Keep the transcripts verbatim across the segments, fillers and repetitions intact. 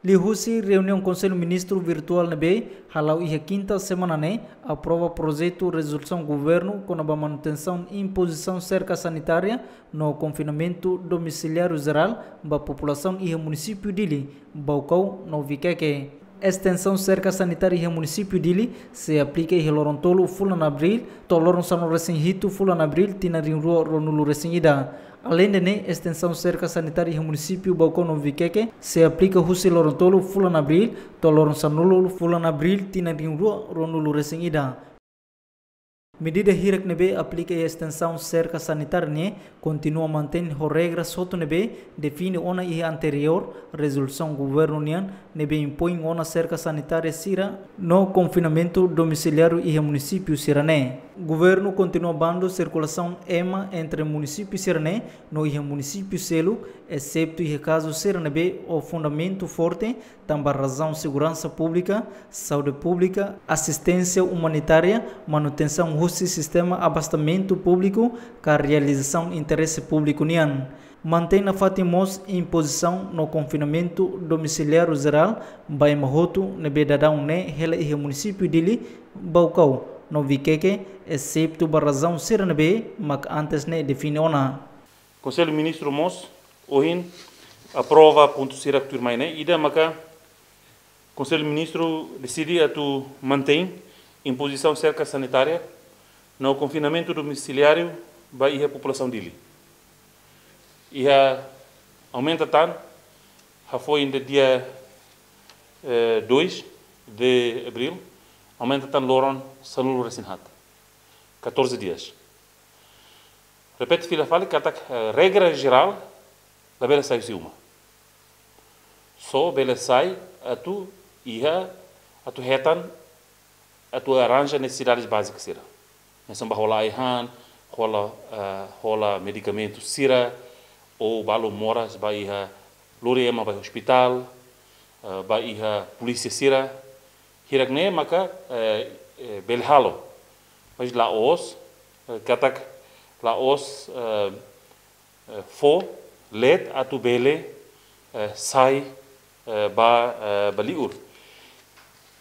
Liuhusi reuniaun Konsellu Ministru virtuál ne'ebé hala'o iha kinta semana ne'e, aprova projetu rezolusaun governu kona-ba manutensaun impozisaun serka sanitária no konfinamentu domisiliáriu jerál ba populasaun iha munisípiu Dili, Baucau no Viqueque. Estensaun serka sanitária iha munisípiu Dili sei aplika iha loron tolu fulan Abríl to'o loron sanulu-resin-hitu fulan Abríl tinan rihun rua ruanulu-resin-ida. Aleinde ne'e, estensaun serka sanitária iha munisípiu Baucau no Viqueque sei aplika husi loron tolu fulan Abríl to'o loron sanulu fulan Abríl tinan rihun rua ruanulu-resin-ida. Medida hirak ne'ebé aplika iha estensaun serka sanitária ne'e kontinua mantein ho regras hotu ne'ebé define ona iha anteriór rezolusaun governu nian ne'ebé impoin ona serka sanitária sira no konfinamentu domisiliáriu iha munisípiu sira-ne'e. Governu kontinua bandu sirkulasaun ema entre munisípiu sira-ne'e no iha munisípiu seluk, eseptu iha kazu sira ne'ebé ho fundamentu forte tanba razaun seguransa públika, saúde públika, asisténsia umanitária, manutensaun husi sistema abastamentu públiku ka realizasaun interese públiku nian. Mantein nafatin mós impozisaun no konfinamentu domisiliáriu jerál ba ema hotu ne'ebé daudaun ne'e hela iha munisípiu Dili, Baucau no Viqueque, eseptu ba razaun sira ne'ebé mak antes ne'e define ona. Konsellu Ministru mós ohin aprova pontu sira tuirmai ne'e, ida maka Konsellu Ministru deside atu mantein impozisaun serka sanitária no konfinamentu domisiliáriu ba iha populasaun Dili. Iha aumenta tan, hafoin de dia, eh, dois de abril, aumenta tan loron sanulu-resin-haat. Catorze dias. Repete fila fali katak, eh, regra jerál labele sai husi uma. Só bele sai atu iha, atu hetan, atu arranja nesesidades básicas sira. Hanesan ba hola ai-han, hola, eh, hola medikamentu sira, ou balu moras ba iha, lori ema ba ospitál, eh, ba iha polísia sira. Hirak ne'e maka, eh, eh, bele halo. Mas la'ós, eh, katak la'ós, eh, eh, fó leet atu bele, eh, sai, eh, ba, eh, ba liur,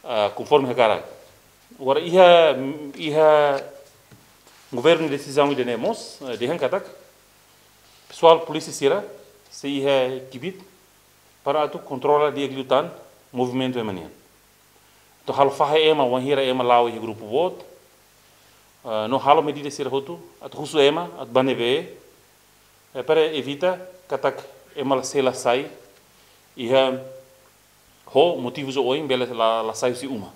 ah, konforme hakarak. Agora iha, iha governu desizaun ida-ne'e mós, eh, dehan katak pesoál polísia sira sei iha kbiit para atu kontrola di'ak liután movimentu ema nian. Atu halo fahe ema wainhira ema la'o iha grupu boot, eh, no halo medida sira hotu atu husu ema atu bá ne'ebé, eh, para evita katak ema la sei la sai iha ho motivus oioin bele la, la sai husi uma.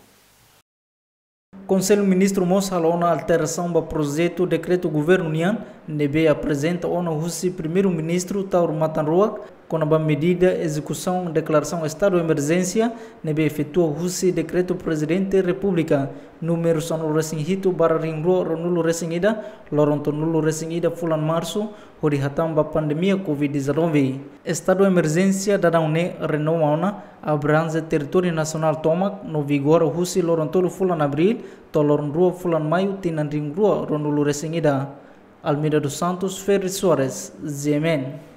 Konsellu Ministru mós halo ona alterasaun ba projetu dekretu governu nian ne'ebé aprezenta ona husi Primeiru-Ministru Taur Matan Ruak kona-ba medida ezekusaun deklarasaun estadu emerjénsia ne'ebé efetua husi dekretu Prezidente Repúblika númeru sanulu-resin-hitu barra rihun rua ruanulu-resin-ida, loron tolunulu-resin-ida fulan Marsu, hodi hatán ba pandemia covid dezanove. Estadu emerjénsia daudaun ne'e renova ona abranje territóriu nasionál tomak no vigora husi loron tolu fulan Abríl to'o loron rua fulan Maiu tinan rihun rua ruanulu-resin-ida. Almeida dos Santos, Ferri Soares, G M N.